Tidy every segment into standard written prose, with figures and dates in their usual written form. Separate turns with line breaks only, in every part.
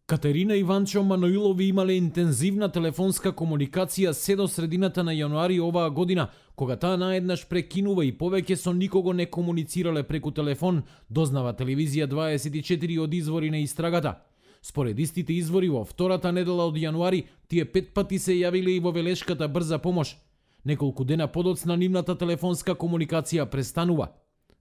Катерина Иванчо Маноилови имале интензивна телефонска комуникација се до средината на јануари оваа година, кога таа наеднаш прекинува и повеќе со никого не комуницирале преку телефон, дознава телевизија 24 од извори на истрагата. Според истите извори, во втората недела од јануари, тие 5 пати се јавиле и во велешката брза помош. Неколку дена подоцна нивната телефонска комуникација престанува.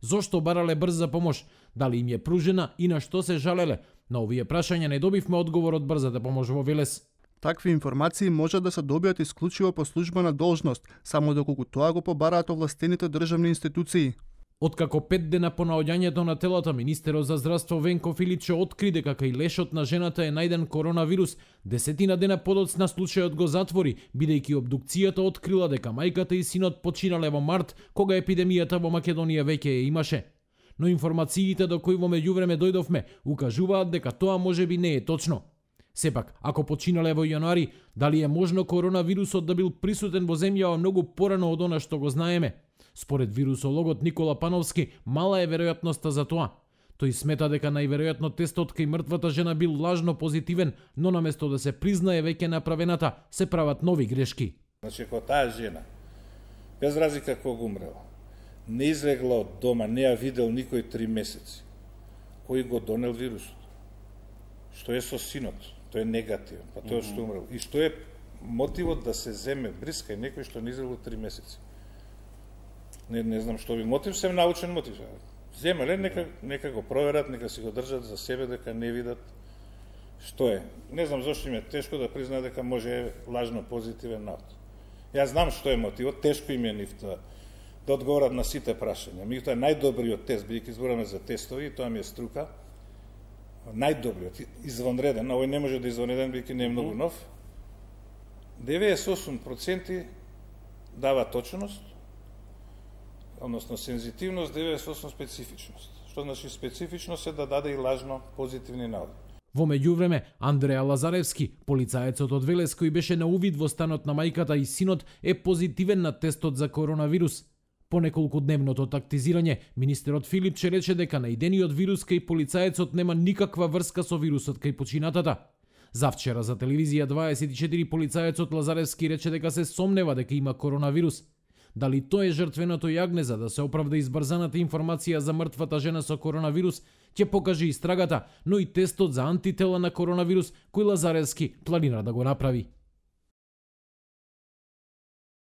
Зошто барале брза помош? Дали им е пружена и на што се жалеле? На овие прашања не добивме одговор од брзата помош во Велес.
Такви информации може да се добијат исклучиво по службена должност, само доколку тоа го побараат овластените државни институции.
Откако 5 дена по наоѓањето на телата, министерот за здравство Венко Филипче откриде дека и лешот на жената е најден коронавирус, 10 дена подоцна случајот го затвори, бидејќи обдукцијата открила дека мајката и синот починале во март, кога епидемијата во Македонија веќе ја имаше. Но информациите до кои во меѓувреме дојдовме укажуваат дека тоа можеби не е точно. Сепак, ако починале во јануари, дали е можно коронавирусот да бил присутен во земјава многу порано од она што го знаеме? Според вирусологот Никола Пановски, мала е веројатноста за тоа. Тој смета дека најверојатно тестот кај мртвата жена бил лажно позитивен, но наместо да се признае веќе направената, се прават нови грешки.
Значи, ако таа жена, без разлика кога умрела, не излегла од дома, не ја видел никој 3 месеци, кој го донел вирусот? Што е со синот? Тој е негативен, па тоа што умрел. И што е мотивот да се земе бриска и некој што не излегла 3 месеци? Не знам што би мотив, сем научен мотив. Земеле, нека го проверат, нека си го држат за себе, дека не видат што е. Не знам зашто им е тешко да признаат дека може лажно позитивен навод. Јас знам што е мотивот, тешко им е нивта да одговорат на сите прашања. Меѓутоа најдобриот тест, бидејќи збораме за тестови, тоа ми е струка, најдобриот, извонреден, овој не може да извонреден, бидејќи не е многу нов, 98% дава точност, односно сензитивност, 98% специфичност. Што значи специфичност е да даде и лажно позитивни наводи.
Во меѓувреме, Андреа Лазаревски, полицаецот од Велес кој беше на увид во станот на мајката и синот, е позитивен на тестот за коронавирус. По неколку дневното тактизирање, министерот Филипче рече дека најдениот вирус кај полицаецот нема никаква врска со вирусот кај починатата. Завчера за телевизија 24 полицаецот Лазаревски рече дека се сомнева дека има коронавирус. Дали тоа е жртвеното јагне за да се оправда избрзаната информација за мртвата жена со коронавирус, ќе покаже истрагата, но и тестот за антитела на коронавирус кој Лазаревски планира да го направи.